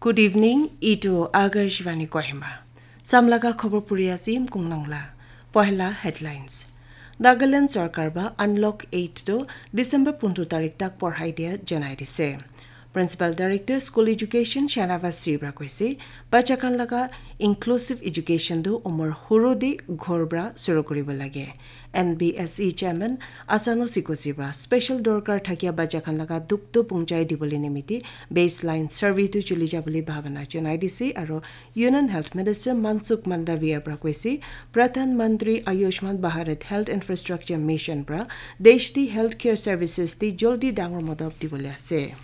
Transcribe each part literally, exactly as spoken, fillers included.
Good evening, itu Akashvani Kohima. Samlaga khobor puri asim kungnangla. Pohela headlines. Nagaland Sarkar ba Unlock eight to December pundro tarik tak porhai dia janai dise. Principal Director School Education Shanavas Sibra koise, bacha khan laga inclusive education tu umor huru di ghor bra suru kuribo lage. N B S E Chairman Asano Sikosi bra special dorkar thakia bacha khan laga duk tu pungchai dibole nimiti baseline survey tu chuli jabole bhabana janai dise aro Union Health Minister Mansukh Mandaviya bra koise, Pradhan Mantri Ayushman Bharat Health Infrastructure Mission bra desh di healthcare services di joldi dangor modop dibole ase.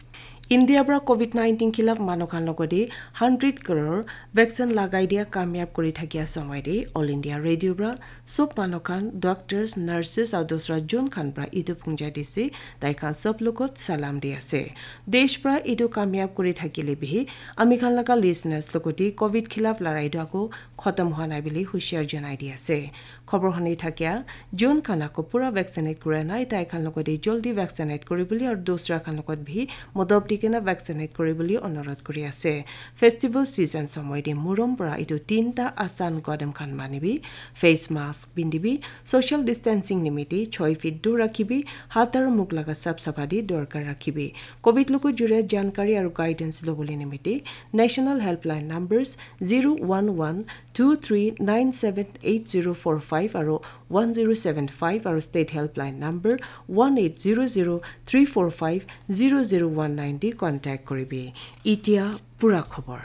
India pra covid nineteen khilaf manu khan logode hundred crore vaccine lagai dia kamyab kuri thakia somoi de All India Radio pra sob manu khan, doctors, nurses aru dusra jun khan pra etu punjai dise, tai khan sob logot salam di ase. Desh pra etu kamyab kuri thakile bihi ami khan laga listeners logode covid khilaf larai tu ako khotom hwa nai bili hushiar janai di ase. Khobor huni thakia, jun khan ako pura vaccinate kura nai, tai khan logode joldi vaccinate kuri bili aru dusra khan logot bhi modop di kena vaccinate kuri bili onurodh kuri ase. Festival season somoi de murom pra etu tinta asan kodem khan manibi, face mask pindibi, social distancing nimite choi feet dur rakhibi, hat aru muk laga sap sapha di dorkar rakhibi. Covid logo jure jankari aru guidance lobole nimite National Helpline numbers zero one one two three nine seven eight zero four five aru one zero seven five aru State Helpline number one eight zero zero three four five zero zero one nine di contact kuribi. Itia pura khobor.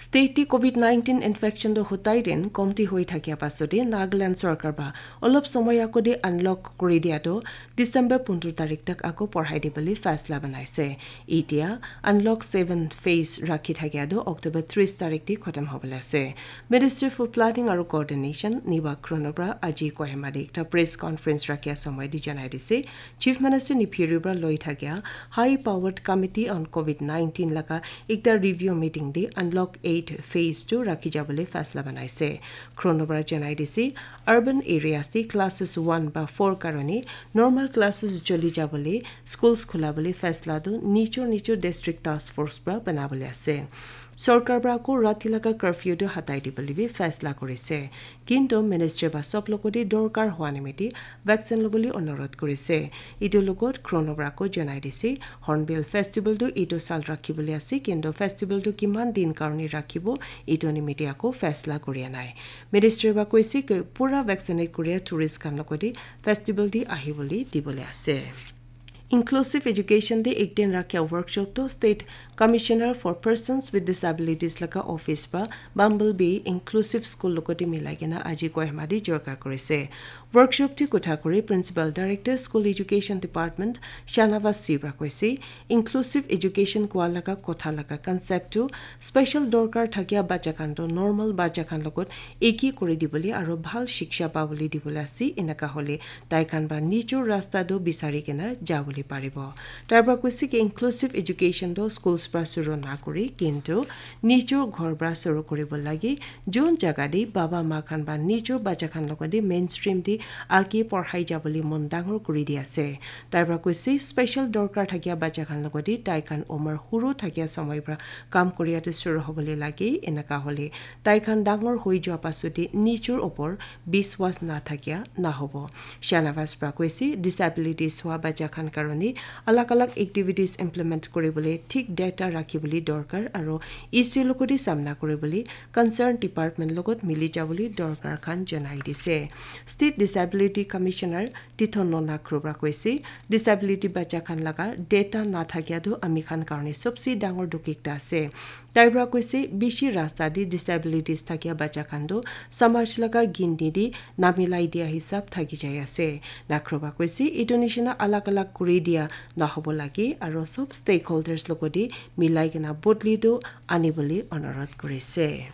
State ti covid nineteen infection do hutai din komti hoi thakia pasode Nagaland sorkar ba olop somoy ako di unlock kuri dia do December pundro tarik tak ako porhai dibole faisla banaise. Itia unlock seven phase rakhi thakia do October tris tarik di khotom hobole ase. Ministry for Planning aru Coordination Niba Khrono pra aji Kohima de ekta press conference rakhia somoi di janai dise, Chief Minister Neiphiu Rio pra loi thakia High Powered Committee on covid nineteen laga ekta review meeting de unlock eight phase two rakhi jabole faisla banaise. Khrono pra janai dise, urban areas de classes one ba four karone normal classes joli jabole schools khula bole faisla tu nichor nichor district task force pra banabole ase. Sorkar pra ko rati laga curfew tu hatai dibole bi faisla kurise. Kintu ministry ba sob logo de dorkar hwa nimiti vaccine lobole onurodh kurise. Etu logot Khrono pra ko janai dise, Hornbill Festival tu etu sal rakhi bole ase, kintu festival tu kiman din karone rakhibo, etu nimiti ako faisla kuri anai. Ministry ba koise ke pura vaccinate kuria tourist khan logo de festival di ahi bole dibole ase. Inclusive Education de ek din rakhia workshop to State Commissioner for Persons with Disabilities laga office pra Bumblebee Inclusive School logote milai kena aji Kohima de jorka kurise. Workshop te kotha kuri Principal Director School Education Department Shanavas Sibra koise, inclusive education kua laga kotha laga concept tu special dorkar thakia bacha khan to normal bacha khan logot eki kuri dibole aro bhal shiksha pabole dibole ase, enaka hole tai khan ba nijor rasta tu bisari kena jabole paribo. Tai pra koise ki inclusive education tu schools pra suru na kuri, kintu nijor ghor pra suru kuribo lage, jun jaga de baba ma khan ba nijor bacha khan logot de mainstream de age porhai jabole mon dangor kuri di ase. Tai pra koise special dorkar thakia bacha khan logot de tai khan umar huru thakia somoi pra kam kuria tu suru hobole lage, enaka hole tai khan dangor hoi jua pasode nijor opor biswas na thakia na hobo. Shanavas pra koise, disabilities hwa bacha khan karone alag alag activities implement kuri bole thik data rakhi bole dorkar aro issue logote samna kuri bole concern department logot mili jabole dorkar khan janai dise. State Disability Commissioner Tithon Nona Khrubra koise, disability bacha khan laga data na thakia tu ami khan karone sobse dangor dukh ekta ase. Tai pra koise, bishi rasta de disabilities thakia bacha khan tu samaj laga ginti de namilai dia hisab thaki jai ase. Nakhroba koise, etu nishina alag alag kuri dia nahobo lage aro sob stakeholders logote milai kena bodli tu anibole onurodh kurise.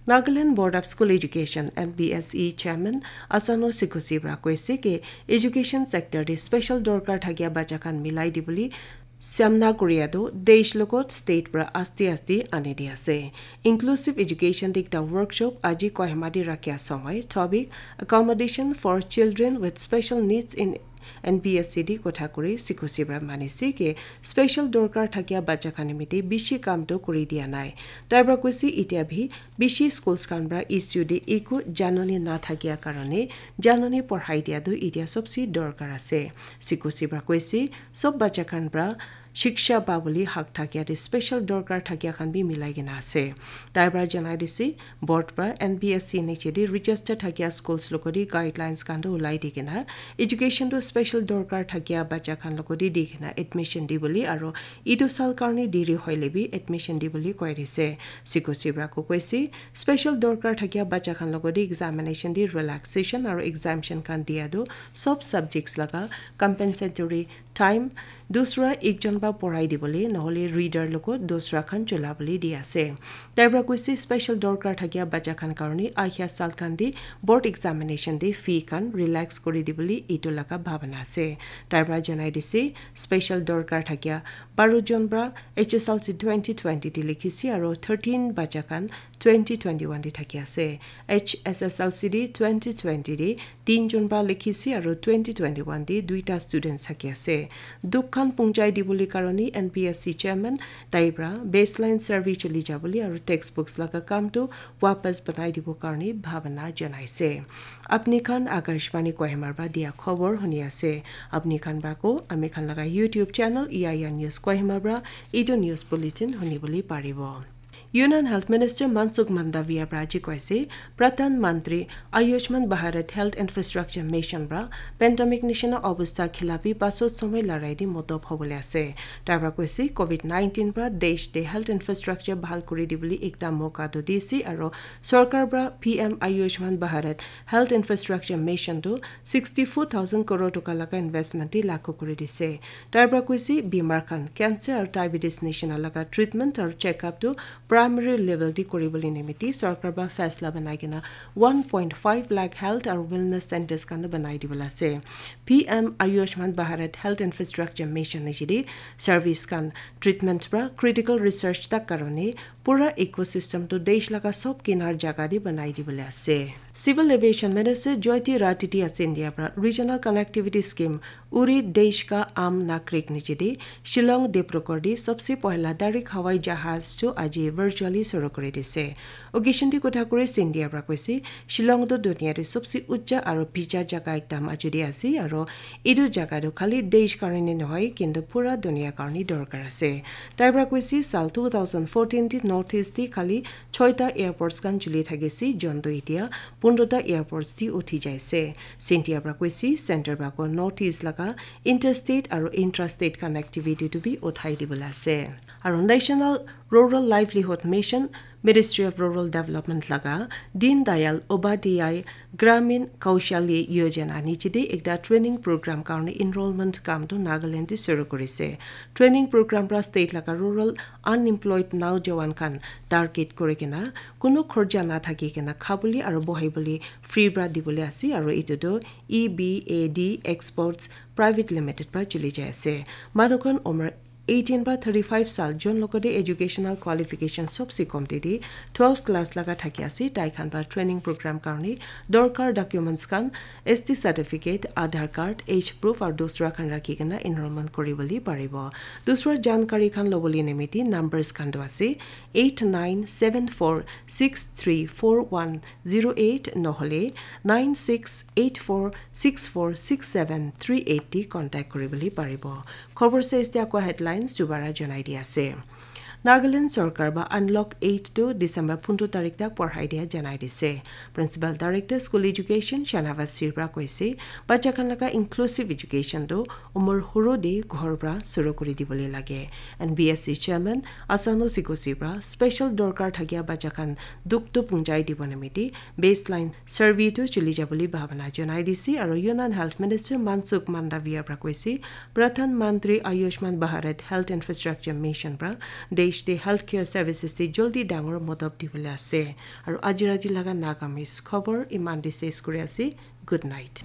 Nagaland Board of School Education, N B S E Chairman Asano Sikosi pra koise ke education sector de special dorkar thakia bacha khan milai dibole samna kuria tu desh logot state pra aste aste ani di ase. Inclusive education de ekta workshop aji Kohima de rakhia somoi topic accommodation for children with special needs in N B S C te kotha kuri C Q C para manise ki special dorkar thakia bacha khan nimite bishi kam toh kuri dia nai. Tai para koise, itia bhi bishi schools khan para issue te eku janani na thakia karone janani porhai dia toh itia sobse dorkar ase. C Q C para koise, sob bacha khan para shiksha pa bole hak thakia te special dorkar thakia khan bi milai kena ase. Tai para janai dise, board para N B S C niche te register thakia schools logot te guidelines khan toh ulai di kena education toh special dorkar thakia bacha khan logot te di kena admission di bole aro etu sal karne deri hoile bi admission di bole koi dise. C Q C para koise, special dorkar thakia bacha khan logot te examination te relaxation aro exemption khan dia toh sob subjects laga compensatory time dusra ekjon para porai di bole, nohole reader logot dusra khan chola bole di ase. Tai para koise, special dorkar thakia bacha khan karone ahia sal khan te board examination te fee khan relax kuri di bole etu laga bhabana ase. Tai para janai dise, special dorkar thakia baro jon para H S L C twenty twenty te likhise aro thirteen bacha khan twenty twenty-one te thaki ase. H S S L C te twenty twenty te tin jon para likhise aro twenty twenty-one te duita students thaki ase. Dukh khan pungjai di bole karone N B S C chairman tai para baseline survey chuli ja bole aro textbooks laga kam toh wapas banai dibo karone bhabana janaise. Apni khan Akashvani Kohima para dia khobor huni ase. Apni khan para ko ami khan laga YouTube channel E I R News Kohima para etu news bulletin huni bole paribo. Union Health Minister Mansukh Mandaviya para aji koise, Pradhan Mantri Ayushman Bharat Health Infrastructure Mission para pandemic nishina obostha khilafi pasot somoi larai di motob hobole ase. Tai para koise, covid nineteen para desh te health infrastructure bhal kuri di bole ekta moka toh dise aro sorkar para P M Ayushman Bharat Health Infrastructure Mission toh sixty four thousand crore toka laga investment te lagu kuri dise. Tai para koise, bimar khan cancer aro diabetes nishina laga treatment aro checkup toh primary level te kuri bole nimite sorkar para faisla banai kena one point five lakh health aro wellness centers khan toh banai di bole ase. P M Ayushman Bharat Health Infrastructure Mission niche te service khan, treatment para critical research tak karone pura ecosystem toh desh laga sob kinar jaga te banai di bole ase. Civil Aviation Minister Jyotiraditya Scindia para Regional Connectivity Scheme Uri Desh Ka Aam Nagarik niche te Shillong Dibrugarh te sobse pohla direct hawai jahaz toh aji virtually suru kuri dise. Occasion te kotha kuri Scindia para koise, Shillong toh dunia te sobse ucha aro bicha jaga ekta majo te ase aro etu jaga toh khali desh karone nohoi kintu pura dunia karone dorkar ase. Tai para koise, sal two thousand fourteen te North East te khali choita airports khan chuli thakise, jontu itia pondro ta airports te uthi jaise. Scindia para koise, center para ko North East laga interstate aro intrastate connectivity toh bi uthai di bole ase. Aro National Rural Livelihood Mission, Ministry of Rural Development laga Deen Dayal Upadhyay Gramin Kaushalya Yojana niche te ekta training program karone enrollment kam toh Nagaland te suru kurise. Training program para state laga rural unemployed naujawan khan target kuri kena kunu khorja na thaki kena khabole aro bohai bole free para di bole ase aro etu toh E B A D Exports Private Limited para chuli jai ase. Manu khan umar eighteen para thirty-five sal, jon logot te educational qualification sobse komti te twelve class laga thaki ase, tai khan para training program karone dorkar documents khan S T certificate, Aadhaar card, age proof aru dusra khan rakhi kena enrollment kuri bole paribo. Dusra jankari khan lobole nimite numbers khan tu ase eight nine seven four six three four one zero eight nohole nine six eight four six four six seven three eight te contact kuri bole paribo. Khobor sesde ako headlines dubara janai di ase. Nagaland sorkar ba unlock eight to December pundro tarik tak porhai dia janai dise. Principal Director School Education Shanavas Sir para koise, bacha khan laga inclusive education tu umur huru de ghor para suru kuri dibole lage. N B S C Chairman Asano Sigosi para special dorkar thakia bacha khan dukh tu punjai dibo nimite baseline survey tu chuli jabole bhabana janai dise, aru Union Health Minister Mansukh Mandaviya para koise, Pradhan Mantri Ayushman Bharat Health Infrastructure Mission para desh te healthcare services te joldi dangor modop dibole ase. Aru aji rati laga Nagamese khobor iman te ses kuri ase. Good night.